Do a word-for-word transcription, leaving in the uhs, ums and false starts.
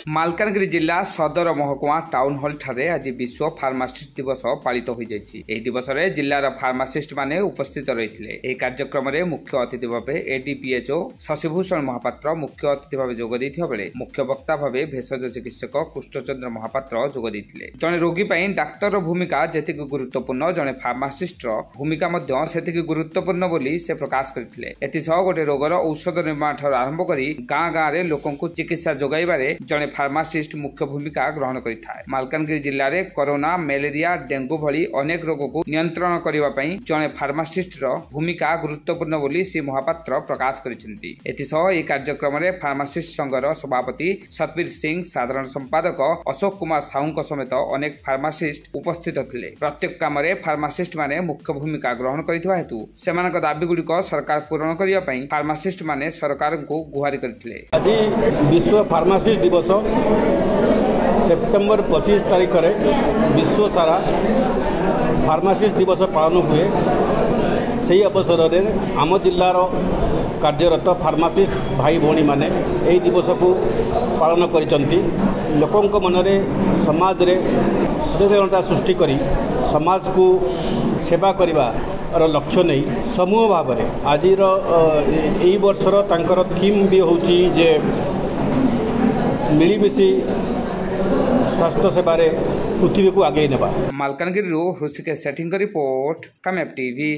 ମାଲକାନଗିରି ଜିଲ୍ଲା ସଦର ମହକୁମା ଟାଉନ ହଲଠାରେ ଆଜି ବିଶ୍ୱ ଫାର୍ମାସିଷ୍ଟ ଦିବସ ପାଳିତ ହୋଇଯାଇଛି। ଏହି ଦିବସରେ ଜିଲ୍ଲାର ଫାର୍ମାସିଷ୍ଟମାନେ ଉପସ୍ଥିତ ରହିଥିଲେ। ଏହି କାର୍ଯ୍ୟକ୍ରମରେ ମୁଖ୍ୟ ଅତିଥି ଭାବେ ଏଡିପିଏଚ୍ଓ ଶଶିଭୂଷଣ ମହାପାତ୍ର ମୁଖ୍ୟ ଅତିଥି ଭାବେ ଯୋଗ ଦେଇଥିବା ବେଳେ ମୁଖ୍ୟ ବକ୍ତା ଭାବେ ଭେଷଜ ଚିକିତ୍ସକ କୃଷ୍ଣଚନ୍ଦ୍ର ମହାପାତ୍ର ଯୋଗ ଦେଇଥିଲେ। ଜଣେ ରୋଗୀ ପାଇଁ ଡାକ୍ତରର ଭୂମିକା ଯେତିକି ଗୁରୁତ୍ୱପୂର୍ଣ୍ଣ, ଜଣେ ଫାର୍ମାସିଷ୍ଟର ଭୂମିକା ମଧ୍ୟ ସେତିକି ଗୁରୁତ୍ୱପୂର୍ଣ୍ଣ ବୋଲି ସେ ପ୍ରକାଶ କରିଥିଲେ। ଏଥିସହ ଗୋଟେ ରୋଗର ଔଷଧ ନିର୍ମାଣ ଠାରୁ ଆରମ୍ଭ କରି ଗାଁ ଗାଁରେ ଲୋକଙ୍କୁ ଚିକିତ୍ସା ଯୋଗାଇବାରେ ଜଣେ ଫାର୍ମାସିଷ୍ଟ ମୁଖ୍ୟ ଭୂମିକା ଗ୍ରହଣ କରିଥାଏ। ମାଲକାନଗିରି ଜିଲ୍ଲାରେ କରୋନା, ମ୍ୟାଲେରିଆ, ଡେଙ୍ଗୁ ଭଳି ଅନେକ ରୋଗକୁ ନିୟନ୍ତ୍ରଣ କରିବା ପାଇଁ ଜଣେ ଫାର୍ମାସିଷ୍ଟର ଭୂମିକା ଗୁରୁତ୍ୱପୂର୍ଣ୍ଣ ବୋଲି ଶ୍ରୀ ମହାପାତ୍ର ପ୍ରକାଶ କରିଛନ୍ତି। ଏଥିସହ ଏହି କାର୍ଯ୍ୟକ୍ରମରେ ଫାର୍ମାସିଷ୍ଟ ସଂଘର ସଭାପତି ସତବୀର ସିଂ, ସାଧାରଣ ସମ୍ପାଦକ ଅଶୋକ କୁମାର ସାହୁଙ୍କ ସମେତ ଅନେକ ଫାର୍ମାସିଷ୍ଟ ଉପସ୍ଥିତ ଥିଲେ। ପ୍ରତ୍ୟେକ କାମରେ ଫାର୍ମାସିଷ୍ଟ ମାନେ ମୁଖ୍ୟ ଭୂମିକା ଗ୍ରହଣ କରିଥିବା ହେତୁ ସେମାନଙ୍କ ଦାବିଗୁଡ଼ିକ ସରକାର ପୂରଣ କରିବା ପାଇଁ ଫାର୍ମାସିଷ୍ଟ ମାନେ ସରକାରଙ୍କୁ ଗୁହାରି କରିଥିଲେ। ଆଜି ବିଶ୍ୱ ଫାର୍ମାସିଷ୍ଟ ଦିବସ। ସେପ୍ଟେମ୍ବର ପଚିଶ ତାରିଖରେ ବିଶ୍ୱ ସାରା ଫାର୍ମାସିଷ୍ଟ ଦିବସ ପାଳନ ହୁଏ। ସେହି ଅବସରରେ ଆମ ଜିଲ୍ଲାର କାର୍ଯ୍ୟରତ ଫାର୍ମାସିଷ୍ଟ ଭାଇ ଭଉଣୀମାନେ ଏହି ଦିବସକୁ ପାଳନ କରିଛନ୍ତି। ଲୋକଙ୍କ ମନରେ, ସମାଜରେ ସଚେତନତା ସୃଷ୍ଟି କରି ସମାଜକୁ ସେବା କରିବାର ଲକ୍ଷ୍ୟ ନେଇ ସମୂହ ଭାବରେ ଆଜିର ଏଇ ବର୍ଷର ତାଙ୍କର ଥିମ୍ ବି ହେଉଛି ଯେ ମିଳିମିଶି ସ୍ୱାସ୍ଥ୍ୟ ସେବାରେ ପୃଥିବୀକୁ ଆଗେଇ ନେବା। ମାଲକାନଗିରିରୁ ହୃଷିକେଶ ସେଠୀଙ୍କ ରିପୋର୍ଟ, କାମ୍ୟାବ ଟିଭି।